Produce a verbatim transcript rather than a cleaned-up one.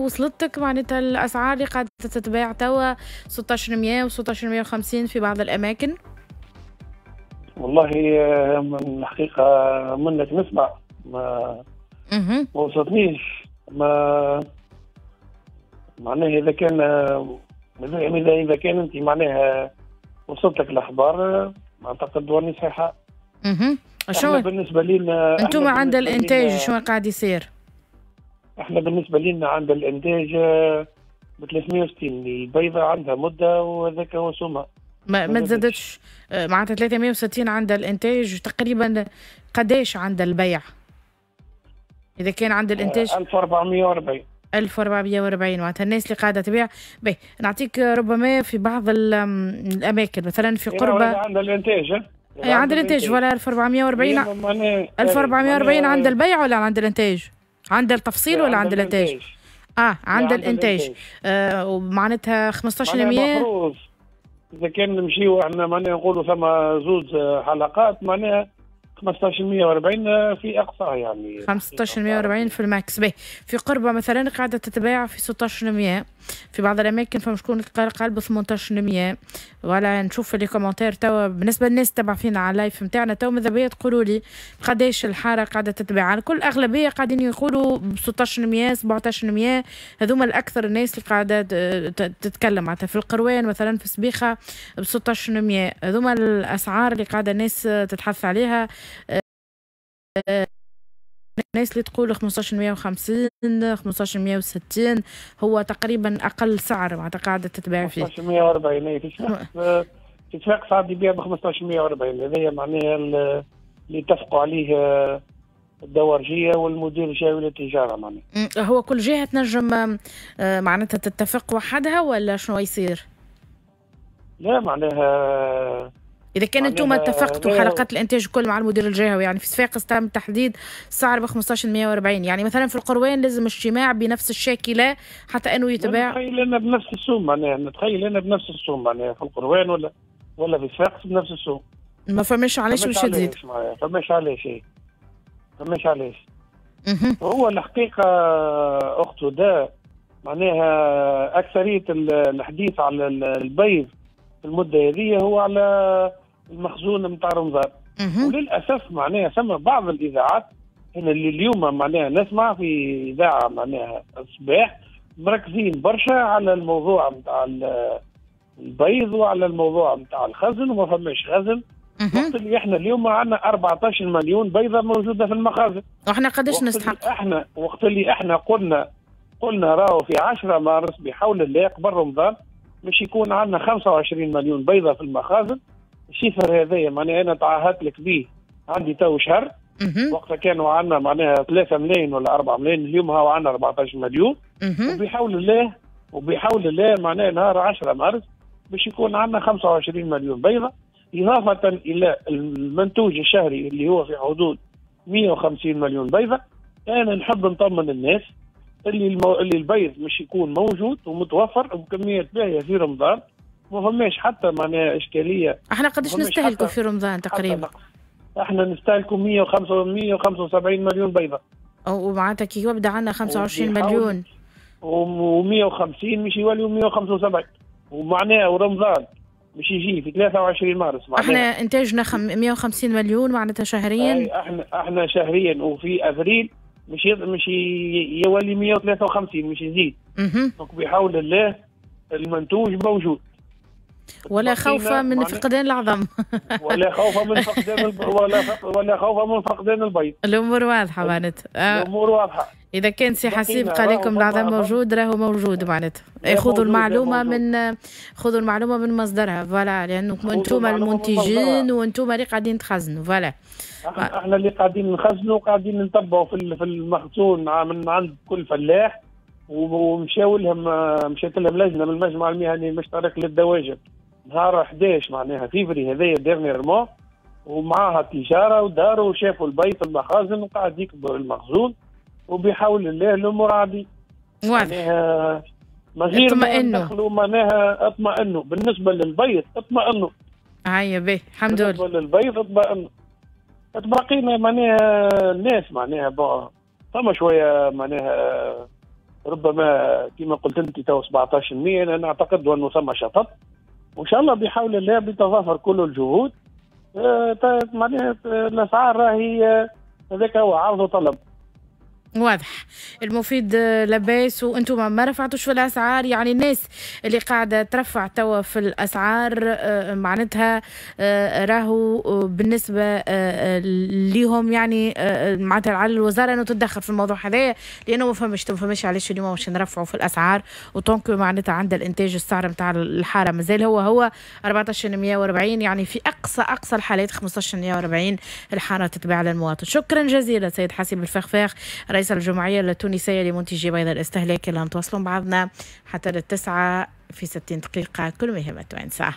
وصلتك معناتها الاسعار اللي قاعدة تتباع توا ستة عشر مية و ستة عشر مية وخمسين في بعض الاماكن؟ والله من الحقيقة منك نسمع، ما ما وصلتنيش. ما معناها اذا كان اذا اذا كان انت معناها وصلت لك الاخبار، اعتقد ورني صحيحه. اها شو بالنسبة لنا انتم عند الانتاج شو قاعد يصير؟ احنا بالنسبة لنا عند الانتاج ب ثلاثمية وستين البيضه، عندها مده وهذاك هو سومها. ما, ما تزادتش آه، معناتها ثلاثمية وستين عند الانتاج، تقريبا قداش عند البيع اذا كان عند الانتاج؟ ألف وأربعمية وأربعين. ألف وأربعمية وأربعين معناتها الناس اللي قاعدة تبيع. باهي، نعطيك ربما في بعض الاماكن، مثلا في قربه عند الانتاج. اي عند الانتاج ولا ألف وأربعمية وأربعين؟ ألف وأربعمية وأربعين عند البيع ولا عند الانتاج؟ عند التفصيل ولا عند الانتاج؟ اه عند الانتاج. آه ومعناتها خمسطاش المفروض اذا كان نمشيو احنا معناها نقولوا ثم زوز حلقات، معناها خمسطاش مية وأربعين في اقصى يعني. خمسطاش مية وأربعين في ال max. باهي، في قربة مثلا قاعدة تتباع في ستاش مية في بعض الاماكن، فما شكون قال ب ثمنطاش مية. ولا نشوف في les commentaires توا، بالنسبة للناس تبع فينا على ال live نتاعنا توا، ماذا بيا تقولوا لي قداش الحارة قاعدة تتباع. على كل اغلبية قاعدين يقولوا ب ستاش مية، سبعطاش مية، هذوما الاكثر الناس اللي قاعدة تتكلم. معناتها في القروان مثلا، في سبيخه ب ستاش مية، هذوما الاسعار اللي قاعدة الناس تتحث عليها. الناس اللي تقول خمسطاش مية وخمسين، خمسطاش مية وستين هو تقريبا اقل سعر معناتها قاعدة تتباع فيه. خمسطاش مية وأربعين في صفاقس، في صفاقس عاد يبيع ب خمسطاش مية وأربعين. هذايا معناها اللي اتفقوا عليه الدوارجيه والمدير الجهوي للتجارة معناها. هو كل جهة تنجم آه، معناتها تتفق وحدها ولا شنو يصير؟ لا، معناها اذا كان انتم اتفقتوا حلقات الانتاج الكل مع المدير الجهوي، يعني في صفاقس تم تحديد السعر ب خمسطاش مية وأربعين، يعني مثلا في القروان لازم اجتماع بنفس الشاكلة حتى انه يتباع؟ نتخيل انا بنفس السوم، معناها نتخيل انا بنفس السوم، معناها في القروان ولا ولا في صفاقس بنفس السوم. ما فماش علاش باش تزيد. فماش علاش، إيه. فماش علاش. هو الحقيقة اخت ده معناها اكثرية الحديث على البيض في المدة هذه هو على المخزون نتاع رمضان، وللاسف معناها ثم بعض الاذاعات هنا اللي اليوم معناها نسمع في اذاعة معناها الصباح مركزين برشا على الموضوع نتاع البيض وعلى الموضوع نتاع الخزن وما فماش خزن، وقت اللي احنا اليوم عندنا أربعطاش مليون بيضة موجودة في المخازن. واحنا قداش نستحق؟ احنا وقت اللي احنا قلنا قلنا راهو في عشرة مارس بحول الله قبل رمضان مش يكون عندنا خمسة وعشرين مليون بيضة في المخازن. ال chiffre هذايا معناها انا تعهدت لك به عندي تو شهر، وقتها كانوا عندنا معناها ثلاثة ملايين ولا أربعة ملايين، اليوم هاو عندنا أربعطاش مليون. وبحول الله وبحول الله معناها نهار عشرة مارس باش يكون عندنا خمسة وعشرين مليون بيضه، اضافه الى المنتوج الشهري اللي هو في حدود مية وخمسين مليون بيضه. انا نحب نطمن الناس اللي المو... اللي البيض مش يكون موجود ومتوفر وبكميات باهيه في رمضان، ما فماش حتى معناها اشكاليه. احنا قداش نستهلكوا في رمضان تقريبا؟ احنا نستهلكوا مية وخمسة مية وخمسة وسبعين مليون بيضه. ومعناتها كي يبدا عندنا خمسة وعشرين مليون ومية وخمسين مش يوليوا مية وخمسة وسبعين، ومعناها ورمضان مش يجي في ثلاثة وعشرين مارس. معناها احنا انتاجنا خم... مية وخمسين مليون معناتها شهريا. احنا احنا شهريا، وفي افريل مش مش يولي مية وثلاثة وخمسين، مش يزيد. donc بحول الله المنتوج موجود. ولا خوف من فقدان العظم. ولا خوف من فقدان الب... ولا ولا خوف من فقدان البيض. الامور واضحة معناتها. آه. الامور واضحه. اذا كان سي حسيب قال لكم العظم موجود راهو موجود، معناتها خذوا المعلومة من خذوا المعلومة من مصدرها، voilà، لانه انتم المنتجين وانتم اللي قاعدين تخزنوا، voilà. احنا اللي قاعدين نخزنوا، قاعدين نتبعوا في في المخزون من عند كل فلاح، ومشاو لهم مشات لهم لجنة من المجمع المهني المشترك للدواجن نهار حداش معناها فيفري هذايا dernièrement، ومعاها التجاره، وداروا وشافوا البيض في المخازن وقاعد يكبر المخزون، وبحول الله الامور عادي. واضح. ما غير اطمئنوا، معناها اطمئنوا بالنسبة للبيض، اطمئنوا. هيا باهي، الحمد لله. بالنسبة للبيض اطمئنوا. تبقينا معناها الناس معناها bon ثم شوية معناها ربما كما قلت انت تو سبعطاش بالمية، انا اعتقد انه ثم شطط، وان شاء الله بحول الله بتضافر كل الجهود آه، معناها الاسعار راهي هذاك هو عرض وطلب. واضح. المفيد لاباس وانتم ما رفعتوش في الاسعار، يعني الناس اللي قاعدة ترفع توا في الاسعار آه، معناتها آه، راهو بالنسبة آه، ليهم يعني معناتها على الوزارة انه تتدخل في الموضوع هذايا، لانه ما فهمش ما فهمش علاش اليوم باش نرفعوا في الاسعار و tant que معناتها عند الانتاج السعر نتاع الحارة مازال هو هو أربعطاش مية وأربعين، يعني في اقصى اقصى الحالات خمسطاش مية وأربعين الحارة تتباع للمواطن. شكرا جزيلا سيد حسيب الفخفاخ رئيس الجمعية التونسية لمنتجي بيض الاستهلاك. اللي نتواصلوا بعضنا حتى للتسعة في ستين دقيقة كل ما يهم التوانسة.